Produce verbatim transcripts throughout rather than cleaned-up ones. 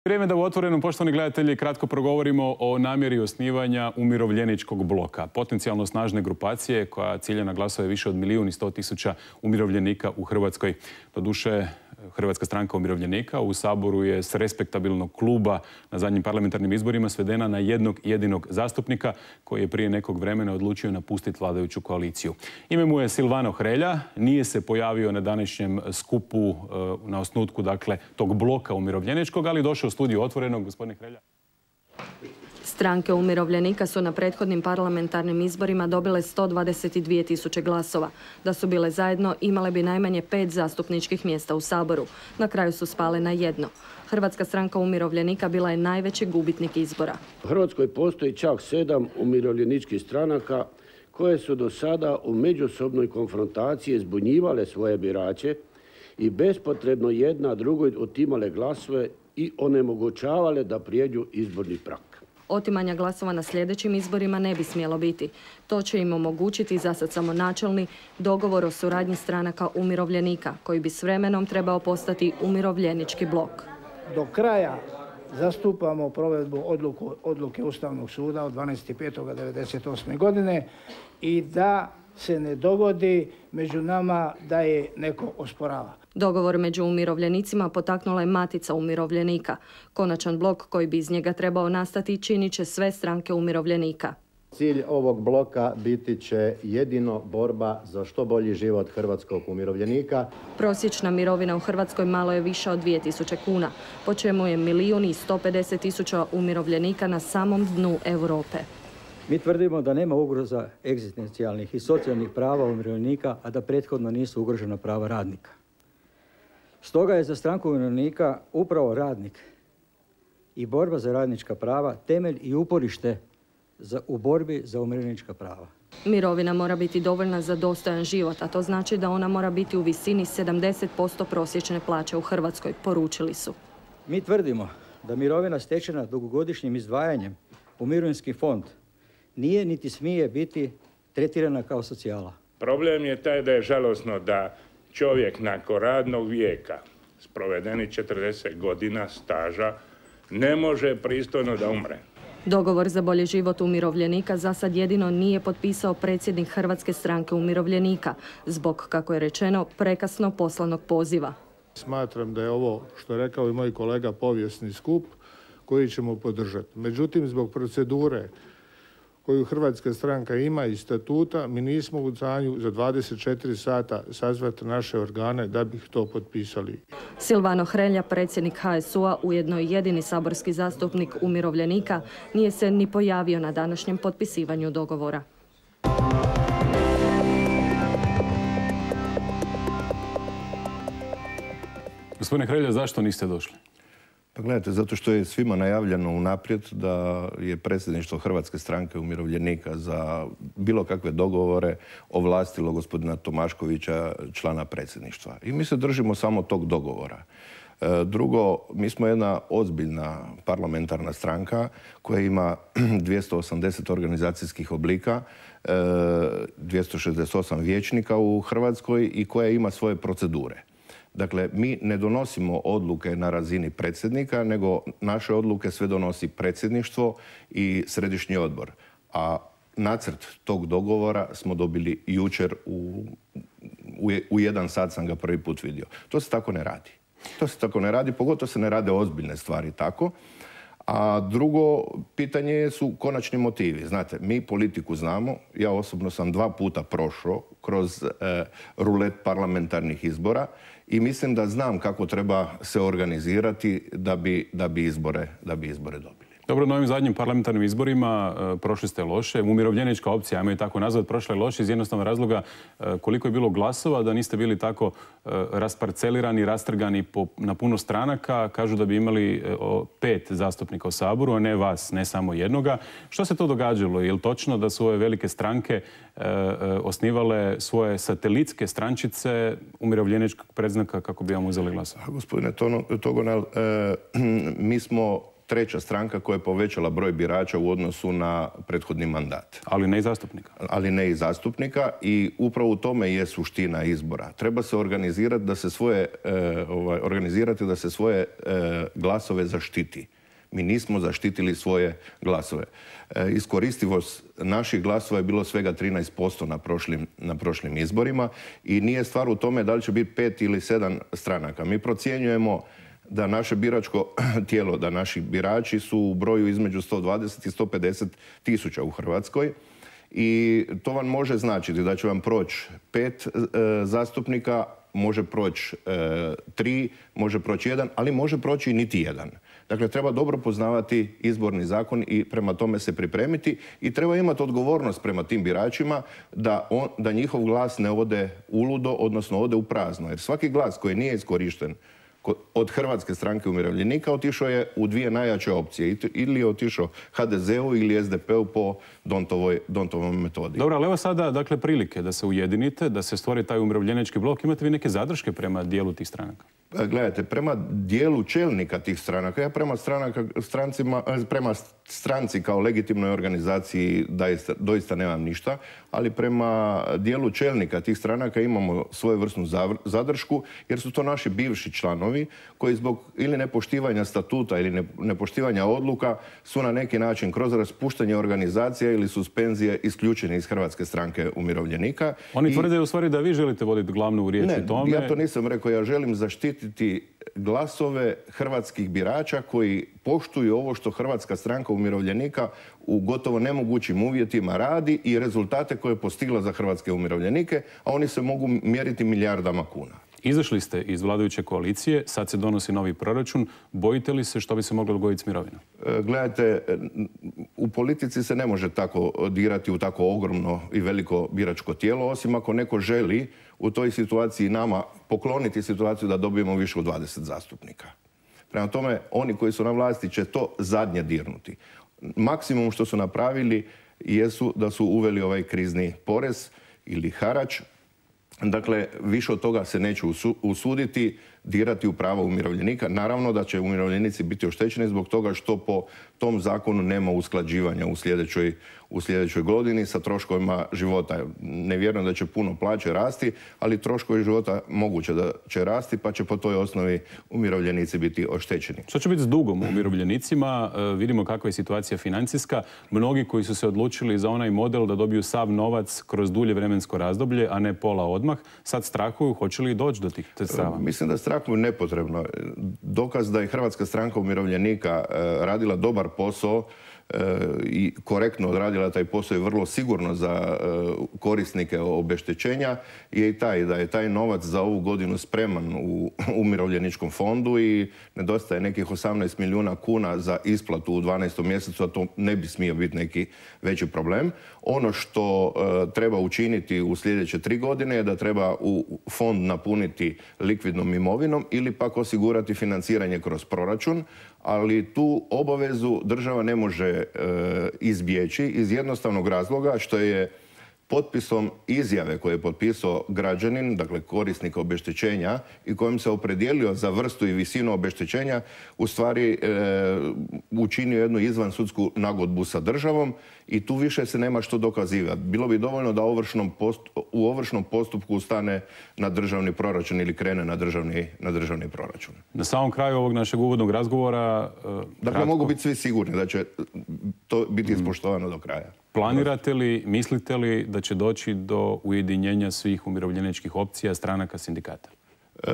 Vrijeme da u Otvorenom, poštovani gledatelji, kratko progovorimo o namjeri osnivanja umirovljeničkog bloka. Potencijalno snažne grupacije koja cilja na glasove više od milijun i sto tisuća umirovljenika u Hrvatskoj. Doduše, Hrvatska stranka umirovljenika u Saboru je s respektabilnog kluba na zadnjim parlamentarnim izborima svedena na jednog jedinog zastupnika koji je prije nekog vremena odlučio napustiti vladajuću koaliciju. Ime mu je Silvano Hrelja, nije se pojavio na današnjem skupu na osnutku dakle, tog bloka umirovljeničkog, ali došao u studiju Otvorenog. Gospodine Hrelja. Stranke umirovljenika su na prethodnim parlamentarnim izborima dobile sto dvadeset dvije tisuće glasova. Da su bile zajedno, imale bi najmanje pet zastupničkih mjesta u Saboru. Na kraju su spale na jedno. Hrvatska stranka umirovljenika bila je najveći gubitnik izbora. U Hrvatskoj postoji čak sedam umirovljeničkih stranaka koje su do sada u međusobnoj konfrontaciji zbunjivale svoje birače i bespotrebno jedna drugoj otimale glasove i onemogućavale da prijeđu izborni prag. Otimanja glasova na sljedećim izborima ne bi smjelo biti. To će im omogućiti zasad samo načelni dogovor o suradnji stranaka umirovljenika, koji bi s vremenom trebao postati umirovljenički blok. Do kraja zastupamo provedbu odluku, odluke Ustavnog suda od dvanaestog petog devedeset osme. godine i da se ne dogodi među nama da je neko osporava. Dogovor među umirovljenicima potaknula je Matica umirovljenika. Konačan blok koji bi iz njega trebao nastati činit će sve stranke umirovljenika. Cilj ovog bloka biti će jedino borba za što bolji život hrvatskog umirovljenika. Prosječna mirovina u Hrvatskoj malo je više od dvije tisuće kuna, po čemu je milijun i sto pedeset tisuća umirovljenika na samom dnu Europe. Mi tvrdimo da nema ugroza egzistencijalnih i socijalnih prava umirovljenika, a da prethodno nisu ugrožena prava radnika. Stoga je za stranku umirovljenika upravo radnik i borba za radnička prava temelj i uporište za, u borbi za umirovljenička prava. Mirovina mora biti dovoljna za dostojan život, a to znači da ona mora biti u visini sedamdeset posto prosječne plaće u Hrvatskoj, poručili su. Mi tvrdimo da mirovina stečena dugogodišnjim izdvajanjem u mirovinski fond nije niti smije biti tretirana kao socijala. Problem je taj da je žalosno da čovjek nakon radnog vijeka s provedenih četrdeset godina staža ne može pristojno da umre. Dogovor za bolji život umirovljenika za sad jedino nije potpisao predsjednik Hrvatske stranke umirovljenika zbog, kako je rečeno, prekasno poslanog poziva. Smatram da je ovo, što je rekao i moj kolega, povijesni skup koji ćemo podržati. Međutim, zbog procedure koju Hrvatska stranka ima i statuta, mi nismo u stanju za dvadeset četiri sata sazvati naše organe da bi to potpisali. Silvano Hrelja, predsjednik H S U-a, ujedno i jedini saborski zastupnik umirovljenika, nije se ni pojavio na današnjem potpisivanju dogovora. Gospodine Hrelja, zašto niste došli? Pa gledajte, zato što je svima najavljeno unaprijed da je predsjedništvo Hrvatske stranke umirovljenika za bilo kakve dogovore ovlastilo gospodina Tomaškovića, člana predsjedništva. I mi se držimo samo tog dogovora. Drugo, mi smo jedna ozbiljna parlamentarna stranka koja ima dvjesto osamdeset organizacijskih oblika, dvjesto šezdeset osam vijećnika u Hrvatskoj i koja ima svoje procedure. Dakle, mi ne donosimo odluke na razini predsjednika, nego naše odluke sve donosi predsjedništvo i središnji odbor. A nacrt tog dogovora smo dobili jučer, u, u, u jedan sat sam ga prvi put vidio. To se tako ne radi. To se tako ne radi, pogotovo se ne rade ozbiljne stvari tako. A drugo pitanje su konačni motivi. Znate, mi politiku znamo. Ja osobno sam dva puta prošao kroz e, rulet parlamentarnih izbora i mislim da znam kako treba se organizirati da bi, da bi, izbore, da bi izbore dobili. Dobro, na ovim zadnjim parlamentarnim izborima e, prošli ste loše. Umirovljenička opcija, ajmo je tako nazvat, prošla je loše iz jednostavnog razloga e, koliko je bilo glasova, da niste bili tako e, rasparcelirani, rastrgani po, na puno stranaka. Kažu da bi imali e, o, pet zastupnika u Saboru, a ne vas, ne samo jednoga. Što se to događalo? Je li točno da su ove velike stranke e, e, osnivale svoje satelitske strančice umirovljeničkog predznaka kako bi vam uzeli glasova? Gospodine Togonel, e, mi smo treća stranka koja je povećala broj birača u odnosu na prethodni mandat. Ali ne i zastupnika. Ali ne i zastupnika i upravo u tome je suština izbora. Treba se organizirati da se svoje, e, ovaj, organizirati da se svoje e, glasove zaštiti. Mi nismo zaštitili svoje glasove. E, iskoristivost naših glasova je bilo svega trinaest posto na prošlim, na prošlim izborima i nije stvar u tome da li će biti pet ili sedam stranaka. Mi procjenjujemo da naše biračko tijelo, da naši birači su u broju između sto dvadeset i sto pedeset tisuća u Hrvatskoj i to vam može značiti da će vam proći pet e, zastupnika, može proći e, tri, može proći jedan, ali može proći i niti jedan. Dakle, treba dobro poznavati izborni zakon i prema tome se pripremiti i treba imati odgovornost prema tim biračima da, on, da njihov glas ne ode uludo, odnosno ode u prazno. Jer svaki glas koji nije iskorišten od Hrvatske stranke umirovljenika otišao je u dvije najjače opcije. Ili je otišao ha de zeu ili es de peu po Dontovoj, Dontovoj metodi. Dobro, ali evo sada dakle, prilike da se ujedinite, da se stvori taj umirovljenički blok. Imate vi neke zadrške prema dijelu tih stranaka? Gledajte, prema dijelu čelnika tih stranaka, ja prema, stranaka, strancima, prema stranci kao legitimnoj organizaciji doista, doista nemam ništa, ali prema dijelu čelnika tih stranaka imamo svojevrsnu zadršku, jer su to naši bivši članovi koji zbog ili nepoštivanja statuta ili nepoštivanja odluka su na neki način kroz raspuštanje organizacija ili suspenzije isključeni iz Hrvatske stranke umirovljenika. Oni I... tvrde u stvari da vi želite voditi glavnu riječ ne, u tome. Ja to nisam rekao, ja želim zaštititi glasove hrvatskih birača koji poštuju ovo što Hrvatska stranka umirovljenika u gotovo nemogućim uvjetima radi i rezultate koje je postigla za hrvatske umirovljenike, a oni se mogu mjeriti milijardama kuna. Izašli ste iz vladajuće koalicije, sad se donosi novi proračun. Bojite li se što bi se moglo dogoditi s mirovinom? Gledajte, u politici se ne može tako dirati u tako ogromno i veliko biračko tijelo, osim ako neko želi u toj situaciji nama pokloniti situaciju da dobijemo više od dvadeset zastupnika. Prema tome, oni koji su na vlasti će to zadnje dirnuti. Maksimum što su napravili jesu da su uveli ovaj krizni porez ili harač. Dakle, više od toga se neće usuditi dirati u prava umirovljenika. Naravno da će umirovljenici biti oštećeni zbog toga što po tom zakonu nema usklađivanja u sljedećoj, u sljedećoj godini sa troškovima života. Ne vjerujem da će puno plaće rasti, ali troškovi života moguće da će rasti, pa će po toj osnovi umirovljenici biti oštećeni. Što će biti s dugom umirovljenicima? E, vidimo kakva je situacija financijska. Mnogi koji su se odlučili za onaj model da dobiju sav novac kroz dulje vremensko razdoblje, a ne pola odmah, sad strahuju hoće li doći do tih sredstava? Mislim da strahuju nepotrebno. Dokaz da je Hrvatska stranka umirovljenika radila dobar posao i korektno odradila taj posao i vrlo sigurno za korisnike obeštećenja je i taj da je taj novac za ovu godinu spreman u umirovljeničkom fondu i nedostaje nekih osamnaest milijuna kuna za isplatu u dvanaestom mjesecu, a to ne bi smio biti neki veći problem. Ono što treba učiniti u sljedeće tri godine je da treba u fond napuniti likvidnom imovinom ili pak osigurati financiranje kroz proračun, ali tu obavezu država ne može e, izbjeći iz jednostavnog razloga što je potpisom izjave koje je potpisao građanin, dakle korisnik obeštećenja i kojim se opredijelio za vrstu i visinu obeštećenja, u stvari e, učinio jednu izvansudsku nagodbu sa državom i tu više se nema što dokazivati. Bilo bi dovoljno da ovršnom postup, u ovršnom postupku stane na državni proračun ili krene na državni, na državni proračun. Na samom kraju ovog našeg uvodnog razgovora... E, dakle, kratko... mogu biti svi sigurni da će to biti ispoštovano do kraja. Planirate li, mislite li da će doći do ujedinjenja svih umirovljeničkih opcija, stranaka, sindikata? E,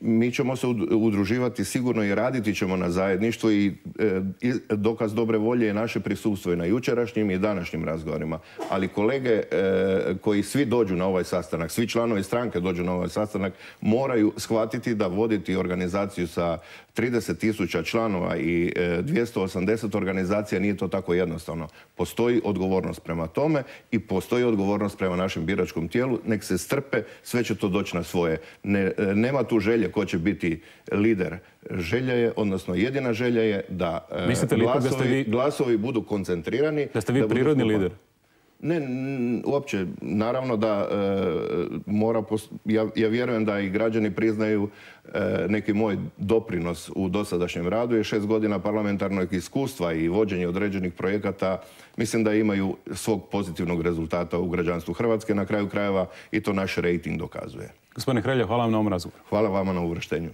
mi ćemo se udruživati sigurno i raditi ćemo na zajedništvu i, e, i dokaz dobre volje je naše prisustvo i na jučerašnjim i današnjim razgovorima. Ali kolege e, koji svi dođu na ovaj sastanak, svi članovi stranke dođu na ovaj sastanak, moraju shvatiti da voditi organizaciju sa trideset tisuća članova i e, dvjesto osamdeset organizacija nije to tako jednostavno. Postoji odgovornost prema tome i postoji odgovornost prema našem biračkom tijelu. Nek se strpe, sve će to doći na svoje. Ne, nema tu želje ko će biti lider. Želja je, odnosno jedina želja je da glasovi, vi, glasovi budu koncentrirani. Da ste vi da prirodni lider? Ne, uopće. Naravno da mora, ja, ja vjerujem da i građani priznaju neki moj doprinos u dosadašnjem radu je šest godina parlamentarnog iskustva i vođenje određenih projekata. Mislim da imaju svog pozitivnog rezultata u građanstvu Hrvatske. Na kraju krajeva i to naš rejting dokazuje. Gospodine Hrelja, hvala vam na ovom razgovoru. Hvala vama na uvrštenju.